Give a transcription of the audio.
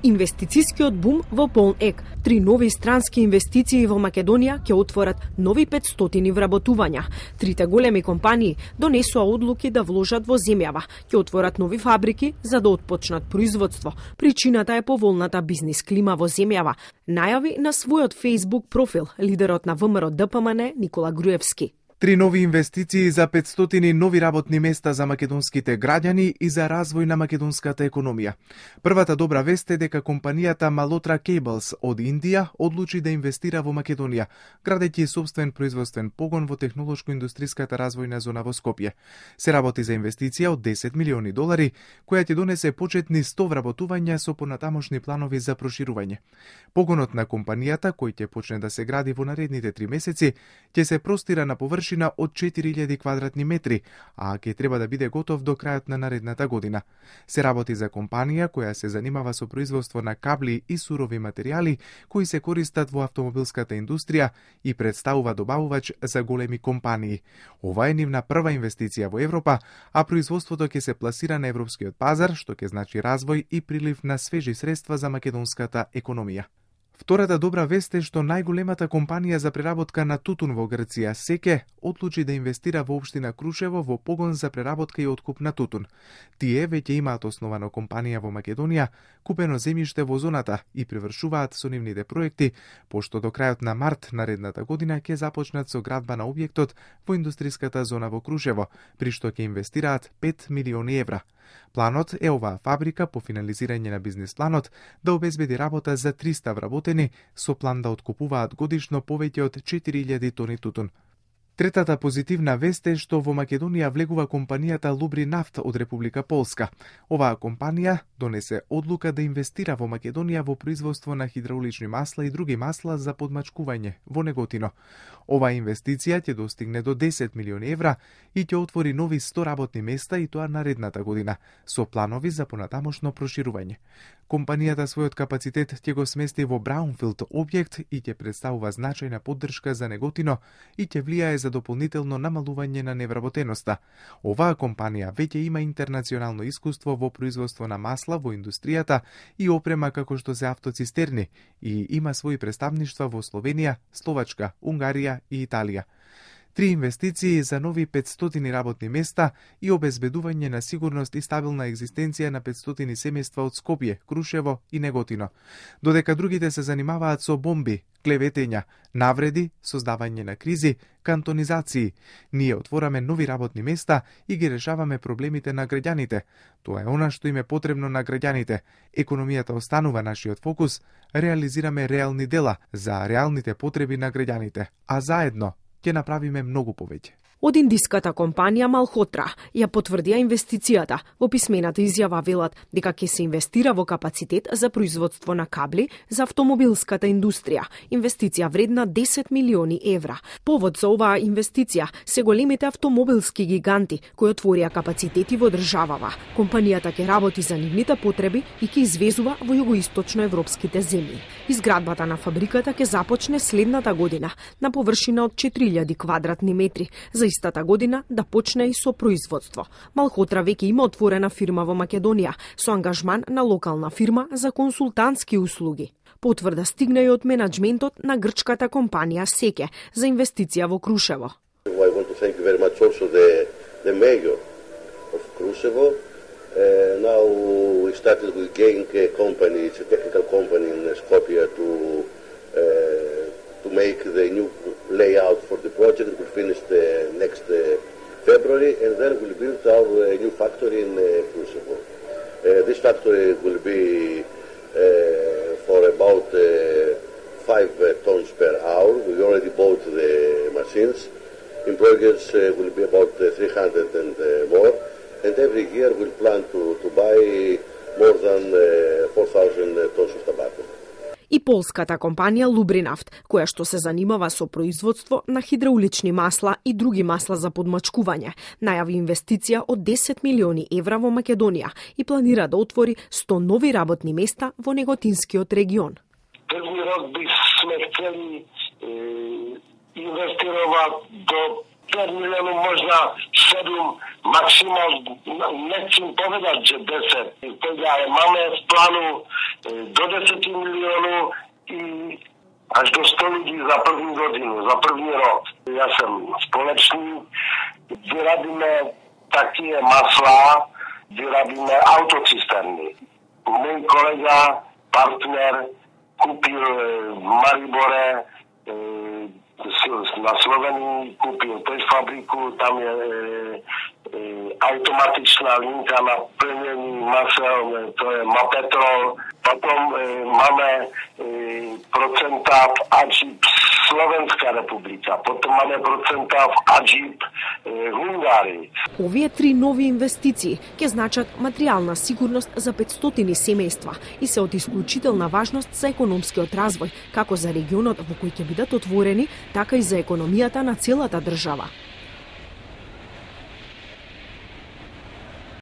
Инвестицискиот бум во полн ек. 3 нови странски инвестиции во Македонија ќе отворат нови 500 вработувања. Трите големи компании донесоа одлуки да вложат во земјава, ќе отворат нови фабрики за да отпочнат производство. Причината е поволната бизнис клима во земјава, најави на својот Facebook профил лидерот на ВМРО ДПМН Никола Груевски. 3 нови инвестиции за 500 нови работни места за македонските граѓани и за развој на македонската економија. Првата добра вест е дека компанијата Malhotra Cables од Индија одлучи да инвестира во Македонија, градејќи собствен производствен погон во технолошко-индустриската развојна зона во Скопје. Се работи за инвестиција од $10 милиони, која ќе донесе почетни 100 вработувања со понатамошни планови за проширување. Погонот на компанијата, кој ќе почне да се гради во наредните 3 месеци, ќе се простира на површина од 4000 квадратни метри, а ќе треба да биде готов до крајот на наредната година. Се работи за компанија која се занимава со производство на кабли и сурови материјали кои се користат во автомобилската индустрија и представува добавувач за големи компании. Ова е нивна прва инвестиција во Европа, а производството ќе се пласира на европскиот пазар, што ќе значи развој и прилив на свежи средства за македонската економија. Втората добра вест е што најголемата компанија за преработка на тутун во Грција, Секе, одлучи да инвестира во општина Крушево во погон за преработка и откуп на тутун. Тие веќе имаат основано компанија во Македонија, купено земјиште во зоната и привршуваат со нивните проекти, пошто до крајот на март наредната година ќе започнат со градба на објектот во индустриската зона во Крушево, при што ќе инвестираат €5 милиони. Планот е оваа фабрика по финализирање на бизнис планот да обезбеди работа за 300 вработени со план да откупуваат годишно повеќе од 4000 тони тутун. Третата позитивна вест е што во Македонија влегува компанијата Лубринавт од Република Полска. Оваа компанија донесе одлука да инвестира во Македонија во производство на хидраулични масла и други масла за подмачкување во Неготино. Оваа инвестиција ќе достигне до €10 милиони и ќе отвори нови 100 работни места и тоа наредната година, со планови за понатамошно проширување. Компанијата својот капацитет ќе го смести во Браунфилд објект и ќе представува значајна поддршка за Неготино и ќе влијае за дополнително намалување на невработеноста. Оваа компанија веќе има интернационално искуство во производство на масла во индустријата и опрема како што се автоцистерни и има своји представништва во Словенија, Словачка, Унгарија и Италија. 3 инвестиции за нови 500 работни места и обезбедување на сигурност и стабилна екзистенција на 500 семејства од Скопје, Крушево и Неготино. Додека другите се занимаваат со бомби, клеветења, навреди, создавање на кризи, кантонизации, ние отвораме нови работни места и ги решаваме проблемите на граѓаните. Тоа е она што им е потребно на граѓаните. Економијата останува нашиот фокус, реализираме реални дела за реалните потреби на граѓаните, а заедно ќе направиме многу повеќе. Од индиската компанија Malhotra ја потврдија инвестицијата. Во писмената изјава велат дека ќе се инвестира во капацитет за производство на кабли за автомобилската индустрија, инвестиција вредна €10 милиони. Повод за оваа инвестиција се големите автомобилски гиганти кои отворија капацитети во државава. Компанијата ќе работи за нивните потреби и ќе извезува во југоисточно европските земји. Изградбата на фабриката ќе започне следната година на површина од 4000 квадратни метри, за истата година да почне и со производство. Malhotra веќе има отворена фирма во Македонија со ангажман на локална фирма за консултантски услуги. Потврда стигна и од менаџментот на грчката компанија Секе за инвестиција во Крушево. I want to thank you very much also the mayor of Krushevo. Now we started with Genk company, it's a technical company in Skopje to make the new layout for the project. We'll finish the next February and then we'll build our new factory in Krushevo. This factory will be for about 5 tons per hour. We already bought the machines. Employees will be about 300 and more. And every year we'll plan to buy more than 4,000 tons of tobacco. И полската компанија Лубринавт, која што се занимава со производство на хидраулични масла и други масла за подмачкување, најави инвестиција од €10 милиони во Македонија и планира да отвори 100 нови работни места во Неготинскиот регион. Први рок би сме хтели инвестирова до 5 милиони, можда 7, максимално, не ću povedat že 10. Сега имаме в плану до 10 милиони и аж до 100 ljudi za první godinu, za první rok. Ja sam společník, gdje radíme také masla, gdje radíme autocisterny. Môj kolega, partner, kúpil v Maribore na Slovenii, kúpil tiež fabriku, tam je automatičná linka na plnení masel, to je Mapetrol. Potom máme procenta v AGIP Slovenská republika, potom máme процента в AGIP Hungárii. Овие 3 нови инвестиции ќе значат материјална сигурност за 500 семејства и се од исклучителна важност за економскиот развој, како за регионот во кој ќе бидат отворени, така и за економијата на целата држава.